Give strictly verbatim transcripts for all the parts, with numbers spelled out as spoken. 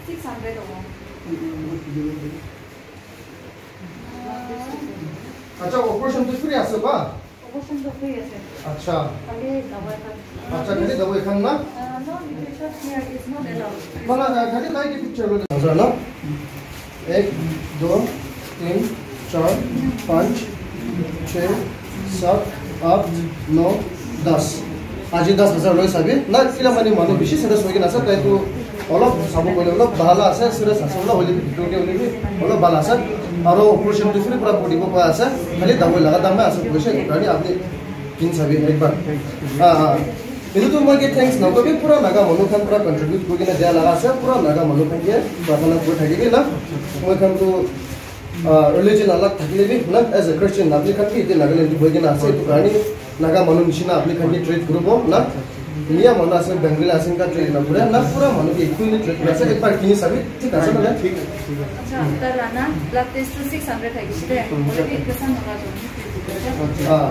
Six hundred hobo. Acha, operation tu free ase ba? Operation tu free ase. Acha. Khali dawai khan. Acha, khali dawai khan na? Uh, no, literature here is not allowed. Mana, uh, khali light picture lo. Acha, na? Ek, do, tin, char, panch, chhe, sat, aat, no, das. Aji das hajar loi sabi. Na, kila mani manu bishi serious hoi kena ase, tai tu olop sabo koile olop bhala ase, serious ase, olop hoile bi, bhitor te hoile bi, olop bhala ase. Aro operation tu free pura kuri dibo pa ase, khali dawai laga dam ase, koise, karne apni kin sabi ekbar. Ah, ah. Etu tu moi ke thanks nakobi, pura Naga manu khan pura contribute kuri kena dia laga ase, pura Naga manu khan ke prarthana kuri thaki bi na. Moi khan tu, ah, religion alag thakile bi na, as a Christian, apni khan bi ete Nagaland tu bohi kena ase, etu karne Naga manu nishina apni khan ke treat kuribo na. Miya manu ase, Bengali ase, enka treat na kure na, pura manu ke equally treat kuri ase, ekbar kini sabi, thik ase na? Thik ase, thik ase. Acha, tar lana blood test tu six hundred thakise de, hoile bi etu san naga jo. Ah,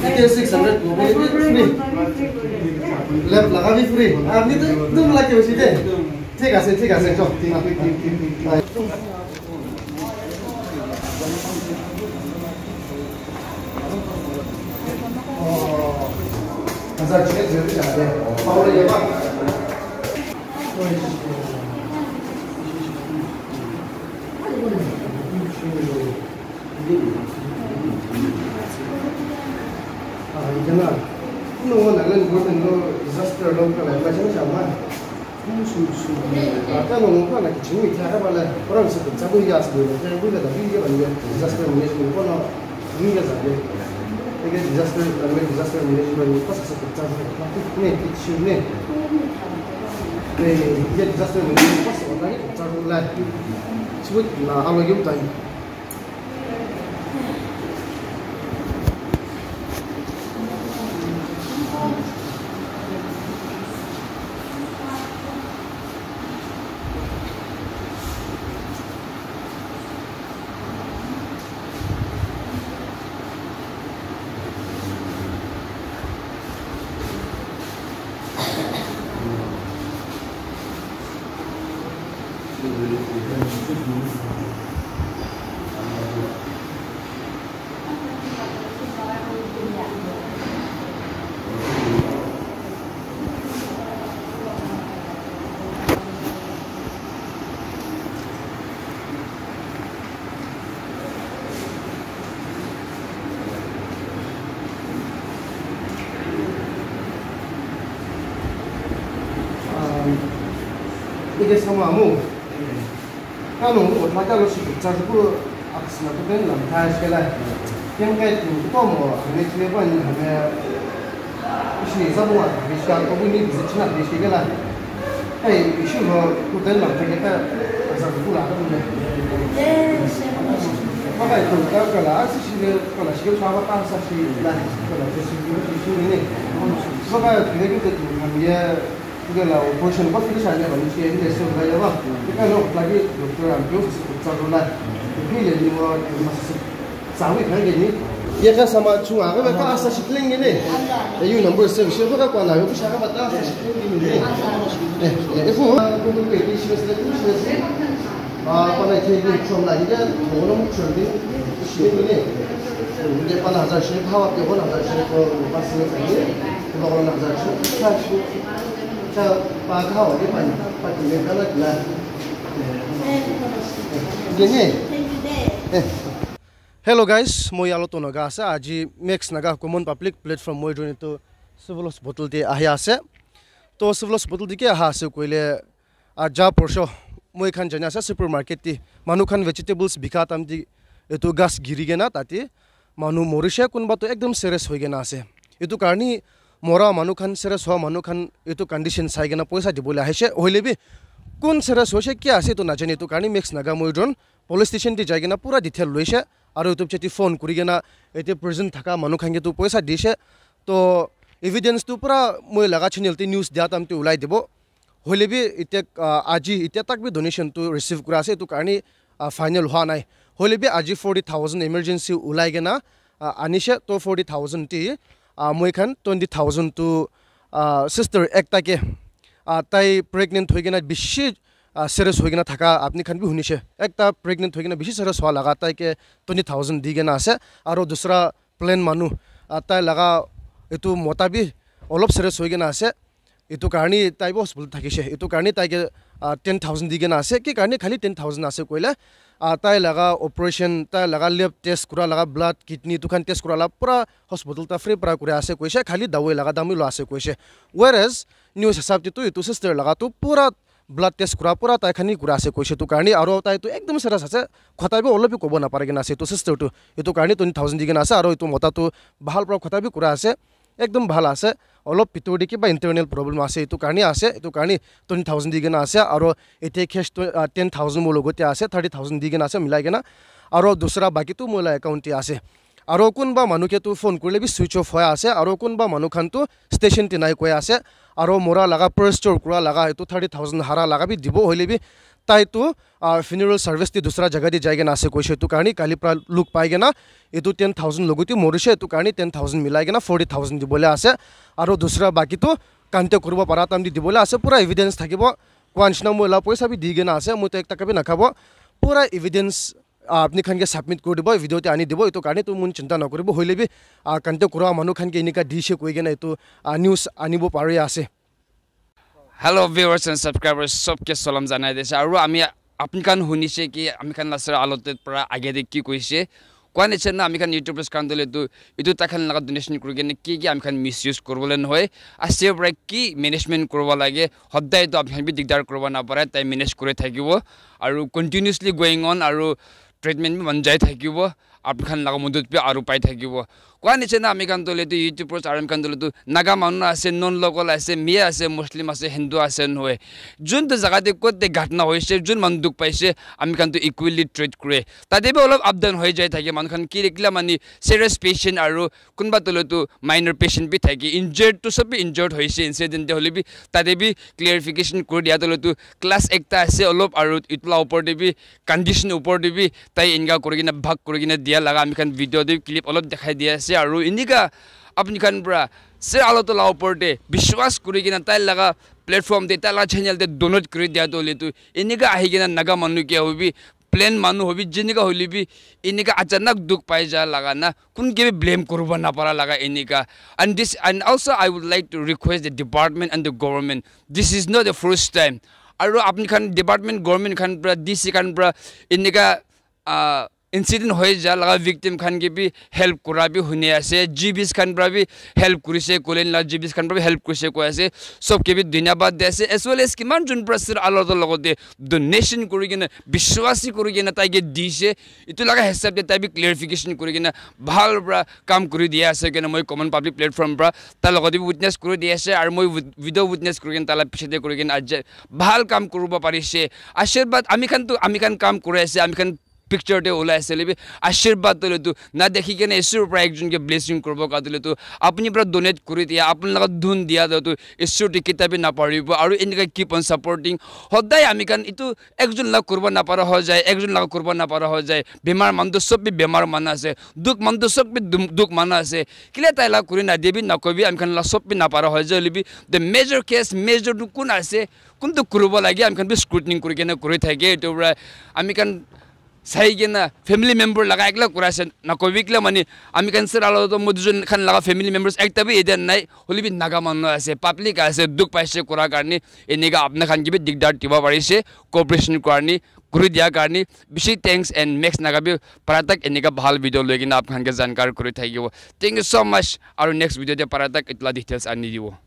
ete six hundred hobo le bi free. Lab laga bi free. Apni tu ekdom lucky hoise de. Thik ase, thik ase, chok. Oh, hazar chhe jai de. Aur ye ba. Ah, ijana. No, Nagaland government lo disaster lo kala, ma jana jama. Su, su, su. Ata no, no, na kiching mi thara bala. Orang se pecah tu ya se, ya, ya, ya, disaster management ko na, ni ya sa de. Eke disaster, Nagaland disaster management ko sa sa pecah sa. Ne, kiching ne. Ne, ye disaster management ko sa na ni pecah ko la. Su na, alo yum tai. Ike sama amu. Kanu, o thaka lo shi cha ku aksna to ben lam thai shela. Ken kai tu to mo, ne chine ko ni ha. Ishi sabu wa, ishi ka ko ni bizi china bizi ke la. Ai, ishi lo ku den la ke ka sa ku la ko ne. Ba kai ku ka ka la, asi shi ne, ka la shi ka ba ka sa shi la, ka la shi shi ni ne. Ba kai ku de ku ha ye, ku la operation ko finish a ne ba ni shi ne so ga ya ba. Ka lo la ki doctor am ko sa ko la. Ku le ni mo ma sa. Sawi khan ke ni. Ye ka sama chunga ka ka asa shi kleng ni. E yu number seven shi ka kwa na yo sha ka ba ta asa shi kleng ni. Eh, eh, fu. Ko ko ke ki shi se ku shi se. Ah, pa na ke ni chom la ni da. Mo no mu chom ni. Shi ni. Ni pa na za shi, pa wa ke ho na za shi ko pa si ni. Ko na za shi. Cha shi. Cha pa ka wa ni pa ni. Pa ki ni ka na na. Gini. Eh. Hello guys, moi Aloto Naga ase. Aji Max Naga Common Public Platform moi join to Civil Hospital te ahi ase. To Civil Hospital te ke aha ase koile, ah, ja porsho moi khan jani ase supermarket te manu khan vegetables bika time te etu gas giri kena tate manu morishe, kunba to ekdom serious hoi kena ase. Etu karni mora manu khan, serious hoa manu khan etu condition sai kena poisa dibole ahise. Hoile bi kun serious hoise, kya ase etu najane, etu karni Max Naga moi join police station te jai kena pura detail loise, aru etu piche te phone kuri kena ete present thaka manu khan ke tu poisa dise. To evidence tu pura moi laga channel te news dia time te ulai dibo. Hoile bi ite, ah, aji ite tak bi donation tu receive kura ase, etu karni, ah, final hua nai. Hoile bi aji forty thousand emergency ulai kena, ah, anise, to forty thousand te, ah, moi khan twenty thousand tu, ah, sister ekta ke, ah, tai pregnant hoi kena bishi uh, serious hoi kena thaka apni khan bi hunishe. Ekta pregnant hoi kena bishi serious hua laga tai ke twenty thousand di kena ase. Aro dusra plain manu, uh, tai laga etu mota bi olop serious hoi kena ase. Etu karni tai bi hospital thakishe. Etu karni tai ke, uh, ten thousand di kena ase. Ki karni khali ten thousand ase koile, uh, tai laga operation, tai laga lab test kura laga blood, kidney tu khan test kura la pura hospital ta free pra kura ase koishe. Khali dawai laga dam bi lo ase koishe. Whereas news hisab te tu etu sister laga tu pura blood test kura pura tai khan hi kura ase koishe tu karni aro tai tu ekdom serious ase. Khota bi olop bi kobo napare kena ase etu sister tu. Etu karni twenty thousand di kena ase aro etu mota tu bahal pra khota bi kura ase. Ekdom bhal ase. Olop pitor te kiba internal problem ase, etu karni ase, etu karni twenty thousand di kena ase, aro ete cash tu, ah, ten thousand mo logote ase, thirty thousand di kena ase, milai kena. Aro dusra baki tu moi la account te ase. Aro kunba manu ke tu phone kurile bi switch off hoi ase, aro kunba manu khan tu station te nai koi ase, aro mora laga purse chor kura laga etu thirty thousand hara laga bi dibo hoile bi tai tu, ah, funeral service te dusra jaga te jai kena ase koishe, etu karni kali pra luk pai kena etu ten thousand logote morishe, etu karni ten thousand milai kena forty thousand dibole ase. Aro dusra baki tu contact kuribo para time te dibole ase, pura evidence thakibo. Koa nishina moi la poisa bi di kena ase, moi to ek taka bi nakhabo. Pura evidence, ah, apni khan ke submit kuri dibo, video te ani dibo, etu karni tu mon chinta nakuribo, hoile bi, ah, contact kura manu khan ke enika dishe koi kena etu, ah, news anibo pari ase. Hello viewers and subscribers, sobke salam janai dise. Aru ami apni khan hunishe ki ami khan la sir alotet para age de ki koishe. Koa niche na ami khan YouTubers khan dole tu etu tai khan laga donation kuri kena ki ki ami khan misuse kuribole nohoi. Ase para ki management kuribo lage. Hodai tu apni khan bi digdar kuribo napare. Tai manage kuri thakibo. Aru continuously going on aru treatment bi man jai thakibo. Apni khan laga modot bi aru pai thakibo. Koa niche na ami khan dole tu YouTubers aru ami khan dole tu Naga manu ase, non local ase, Miya ase, Muslim ase, Hindu ase nohoi. Jun tu jaga te kot te ghatna hoise, jun manu dukh paise, ami khan tu equally treat kure. Tate bi olop up down hoi jai thake, manu khan ki kila mani serious patient aru kunba tole tu minor patient bi thake, injured tu sob bi injured hoise incident te hole bi, tate bi clarification kuri dia tole tu class ekta ase olop aru etu la upor te bi condition upor te bi tai enka kuri kena bhag kuri kena dia laga ami khan video te clip olop dekhai dia ase aru enika apni khan para sir aloto la upor te biswas kuri kena tai laga platform te tai laga channel te donate kuri dia tole tu enika ahi kena Naga manu ke hobi plain manu hobi jenika hoile bi enika achanak dukh pai ja laga na kun ke bi blame kuribo napara laga enika. And this, and also I would like to request the department and the government, this is not the first time. Aru apni khan department government khan para D C khan para enika, ah, incident hoi ja laga victim khan ke bi help kura bi huni ase, G Bs khan para bi help kurise, Kolen la G Bs khan para bi help kurise koi ase. Sob ke bi dhanyabad di ase, as well as kiman jun para sir aloto logote donation kuri kena biswasi kuri kena tai ke dise, etu laga hisab te tai bi clarification kuri kena bhal para kam kuri dia ase kena moi common public platform para tai logote bi witness kuri dia ase aru moi wit-, video witness kuri kena tai la piche te kuri kena aje bhal kam kuribo parise. Ashirwad ami khan tu ami khan kam kuri ase, ami khan picture te ulai ase lebi ashirwad tole tu na dekhi kena Isur para ekjon ke blessing kuribo ka tole tu apni para donate kuri dia, apni laga dhun dia tole tu Isur te kita bi naparibo aru enika keep on supporting. Hodai ami khan etu ekjon la kuribo napara hoi jai, ekjon la kuribo napara hoi jai. Bemar manu tu sob bi bemar manu ase, dukh manu tu sob bi dum-, dukh manu ase. Kile tai la kuri na dibi nakobi, ami khan la sob bi napara hoi jai lebi the major case, major tu kun ase, kun tu kuribo lage, ami khan bi scrutiny kuri kena kuri thake. Etu para ami khan sai kena family member laga ekla kura ase nakobi kila mani ami khan sir alo to modi jun khan laga family members ekta bi ede nai, holi bi Naga manu ase, public ase, dukh paise kura karne enika apna khan ke bi digdar diba parise, cooperation karne kuri dia karne bishi thanks and next Naga bi para tak enika bhal video loi kena apna khan ke jankar kuri thakibo. Thank you so much. Aru next video te para tak itla details ani dibo.